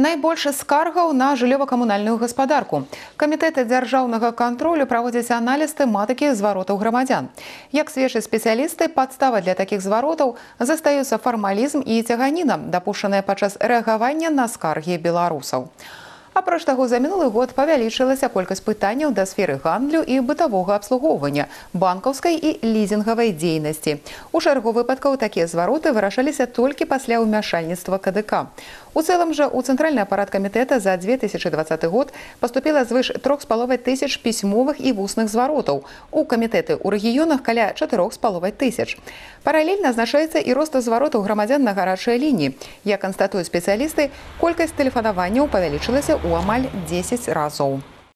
Найбольш скаргаў на жыллёва-камунальную гаспадарку. Камітэты дзяржаўнага кантролю праводзяць аналіз тэматыкі зваротаў грамадзян. Як сведчаць спецыялісты, падстава для такіх зваротаў застаюцца фармалізм і цяганіна, дапушчаныя падчас рэагавання на скаргі беларусаў. Апроч таго, за мінулы год павялічылася колькасць пытанняў да сферы гандлю і бытавога абслугоўвання, банкаўскай і лізінгавай дзейнасці. У чаргу выпадкаў такія звароты вырашаліся толькі пасля ўмяшальніцтва КДК. У цэлым жа у цэнтральны апарат камітэта за 2020 год паступіла звыш 3,5 тысяч пісьмовых і вусных зваротаў. У камітэты ў рэгіёнах каля 4,5 тысяч. Паралельна азначаецца і рост зваротаў грамадзян на гарачыя лініі. Як канстатуюць спецыялісты, колькасць тэлефанаванняў павялічылася ў амаль 10 разоў.